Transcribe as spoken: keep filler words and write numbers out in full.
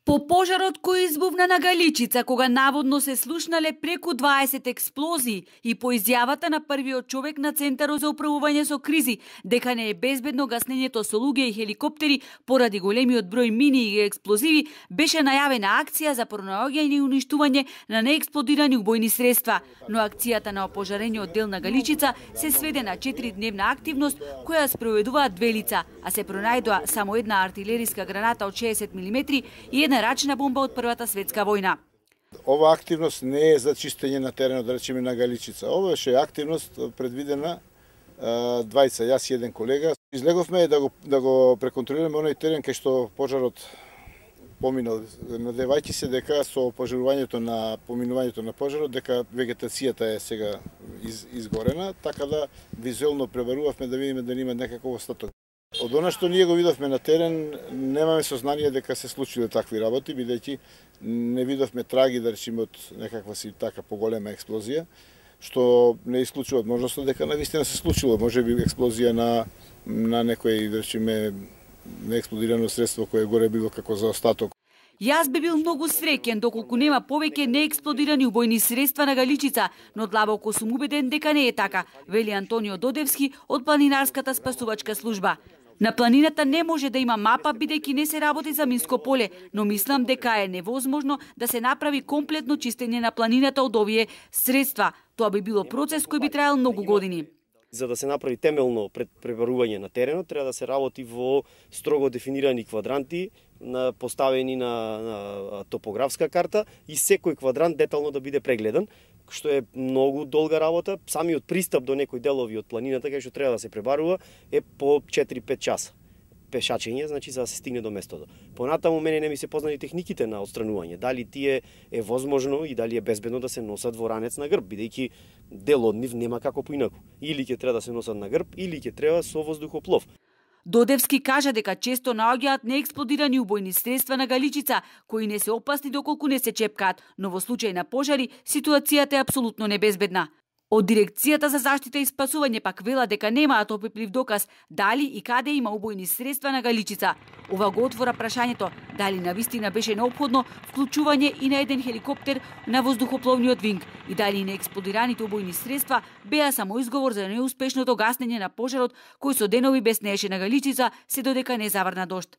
По пожарот кој избувна на Галичица, кога наводно се слушнале преку дваесет експлозии, и по изјавата на првиот човек на Центарот за управување со кризи, дека не е безбедно гаснењето со луѓе и хеликоптери поради големиот број мини и експлозиви, беше најавена акција за пронаоѓање и уништување на неексплодирани убојни средства. Но акцијата на опожарениот дел на Галичица се сведе на четиридневна активност која спроведуваат две лица, а се пронајдоа само една артилериска граната од шеесет милиметри и една рачна бомба од Првата светска војна. Ова активност не е за чистење на теренот, да речеме, на Галичица. Ова беше активност предвидена двајца, јас и еден колега. Излеговме да го да го преконтролираме оној терен кај што пожарот поминал, надевајќи се дека со пожарувањето на поминувањето на пожарот дека вегетацијата е сега из, изгорена, така да визуелно пребарувавме да видиме дали има некаков остаток. Од она што ние го видовме на терен, немаме сознание дека се случиле такви работи, бидејќи не видовме траги, да речеме, од некаква си така поголема експлозија, што не исклучува можноста дека навистина се случило. Може би експлозија на на некој, да речеме, неексплодирано средство кое горе било како за остаток. Јас би бил многу среќен доколку нема повеќе неексплодирани убојни средства на Галичица, но длабоко сум убеден дека не е така, вели Антонио Додевски од Планинарската спасувачка служба. На планината не може да има мапа бидејќи не се работи за минско поле, но мислам дека е невозможно да се направи комплетно чистење на планината од овие средства. Тоа би било процес кој би траел многу години. За да се направи темелно пребарување на теренот, треба да се работи во строго дефинирани квадранти, на поставени на, на топографска карта и секој квадрант детално да биде прегледан, што е многу долга работа. Самиот пристап до некои делови од планината кај што треба да се пребарува е по четири-пет часа пешачење, значи за да се стигне до местото. Понатаму мене не ми се познати техниките на отстранување, дали тие е возможно и дали е безбедно да се носат во ранец на грб, бидејќи дел од нив нема како поинаку. Или ќе треба да се носат на грб, или ќе треба со воздухоплов. Додевски кажа дека често наоѓаат неексплодирани убојни средства на Галичица, кои не се опасни доколку не се чепкаат, но во случај на пожари ситуацијата е апсолутно небезбедна. Од Дирекцијата за заштита и спасување пак вела дека немаат опиплив доказ дали и каде има убојни средства на Галичица. Ова го отвора прашањето дали навистина беше неопходно вклучување и на еден хеликоптер на воздухопловниот винг и дали неексплодираните убојни средства беа само изговор за неуспешното гаснење на пожарот кој со денови беснееше на Галичица се додека не заврна дожд.